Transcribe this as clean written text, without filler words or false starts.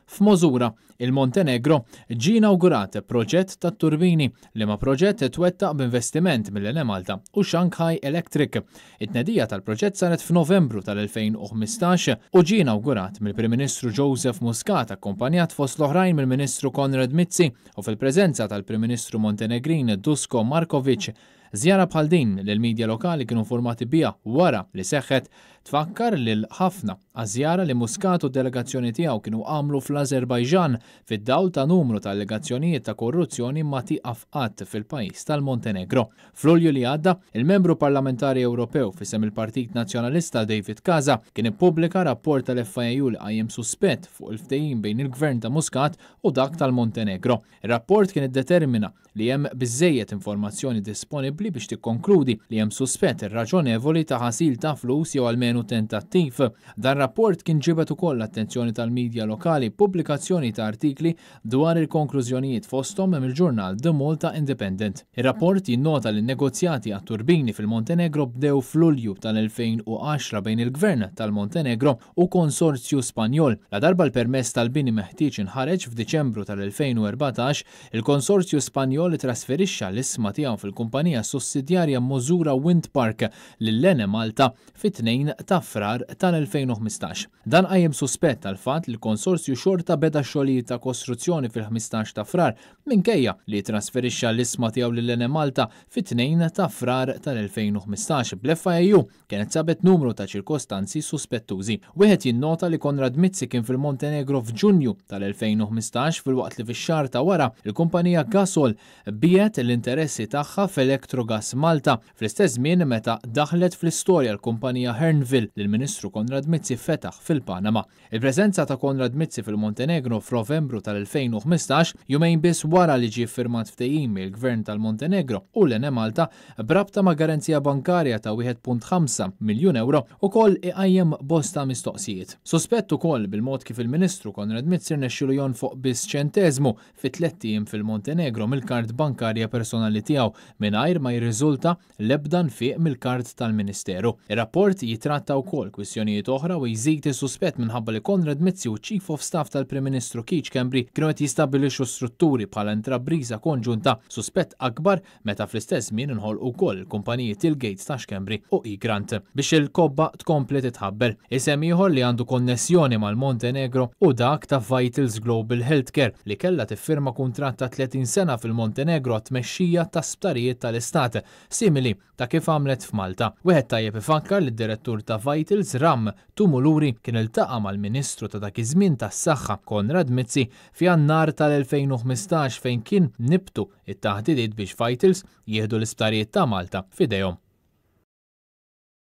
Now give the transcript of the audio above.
F'Mozura, il-Montenegro, ġie inawgurat proġett tat-turbini, liema proġett twettaq b'investiment mill-Enemalta u Shanghai Electric. It-tnedija tal-proġett saret f'Novembru tal-2015 u ġie inawgurat mill-Prim Ministru Joseph Muscat akkumpanjat fost l-oħrajn mill-Ministru Konrad Mizzi u fil-preżenza tal-Prim Ministru Montenegrin Dusko Markovic. Żjara bħal din, li l-midja lokali kienu informati biha wara li seħħet, tfakkar lil ħafna għaż-żjara li Muscat u d-delegazzjoni tiegħu kienu għamlu fl-Ażerbajġan fid-dawl ta' numru ta' allegazzjonijiet ta' korruzzjoni ma tieqaf qatt fil-pajjiż tal-Montenegro. F'Lulju li għadda, il-Membru Parlamentari Ewropew f'isem il-Partit Nazzjonalista David Casa kien ippubblika rapport tal-FIAU li qajjem suspett fuq il-ftehim bejn il-Gvern ta' Muscat u dak tal-Montenegro. Ir-rapport kien iddetermina li hemm biżżejjed informazzjoni disponibbli biex tikkonkludi li hemm suspett raġonevoli ta' ħasil ta' flus jew almenu tentattiv. Dan rapport kien ġibed ukoll l-attenzjoni tal-midja lokali b'pubblikazzjoni ta' artikli dwar il-konklużjonijiet fosthom mill-ġurnal The Malta Independent. Ir-rapport jinnota li n-negozjati għat-turbini fil-Montenegro bdew f'Lulju tal-2010 bejn il-Gvern tal-Montenegro u konsorzju Spanjol. Ladarba l-permess tal-bini meħtieġ inħareġ f'Diċembru tal-2014, il-konsorzju Spanjol ittrasferixxa l-ishma tiegħu fil-kumpanija sussidjarja Mozura Wind Park lil Enemalta fit-2 ta' Frar tal-2015. Dan qajjem suspett għall-fatt li l-konsorzju xorta beda x-xogħlijiet ta' kostruzzjoni fil-15 ta' Frar minkejja li ttrasferixxa l-ishma tiegħu lil Enemalta fit-2 ta' Frar tal-2015 bl-FIAU Kienet sabet numru ta' ċirkostanzi suspettużi. Wieħed jinnota li Konrad Mizzi kien fil-Montenegro f'Ġunju tal-2015 filwaqt li fix-xahar ta' wara l-kumpanija Gasol biegħet l-interessi tagħha f'Electrogas Malta fl-istess żmien meta daħlet fl-istorja l-kumpanija Hearnville li l-Ministru Konrad Mizzi fetaħ fil-Panama. Il-preżenza ta' Konrad Mizzi fil-Montenegro f'Novembru tal-2015, jumejn biss wara li ġie ffirmat ftehim mill-Gvern tal-Montenegro u l-Enemalta b'rabta ma' garanzija bankarja ta' 1.5 miljun ewro, ukoll iqajjem bosta mistoqsijiet. Suspett ukoll bil-mod kif il-Ministru Konrad Mizzi rnexxielu jonfoq biss ċenteżmu fi tlett ijiem fil-Montenegro mill-kard bankarja personali tiegħu mingħajr ma jirriżulta l-ebda nfiq mill-kard tal-Ministeru. Ir-rapport jittratta wkoll kwistjonijiet oħra u jżid is-suspett minħabba li Konrad Mizzi u ċ-Chief of Staff tal-Prim Ministru Keith Schembri kienu qed jistabbilixxu strutturi bħala intrapriża konġunta, suspett akbar meta fl-istess żmien inħolqu wkoll il-kumpaniji Tillgate ta' Schembri u eGrant. Biex il-kobba tkompli titħabbel. Isem ieħor li għandu konnessjoni mal-Montenegro hu dak ta' Vitals Global Healthcare li kellha tiffirma kuntratt ta' 30 sena fil-Montenegro għat-tmexxija ta' sptarijiet tal-Istat, simili ta' kif għamlet f'Malta. Wieħed tajjeb ifakkar li d-direttur ta' Vitals, Ram Tumuluri, kien iltaqa' mal-Ministru ta' dak iż-żmien tas-Saħħa, Konrad Mizzi, f'Jannar tal-2015 fejn kien nibtu t-taħdidiet biex Vitals jieħdu l-isptarijiet ta' Malta f'idejhom.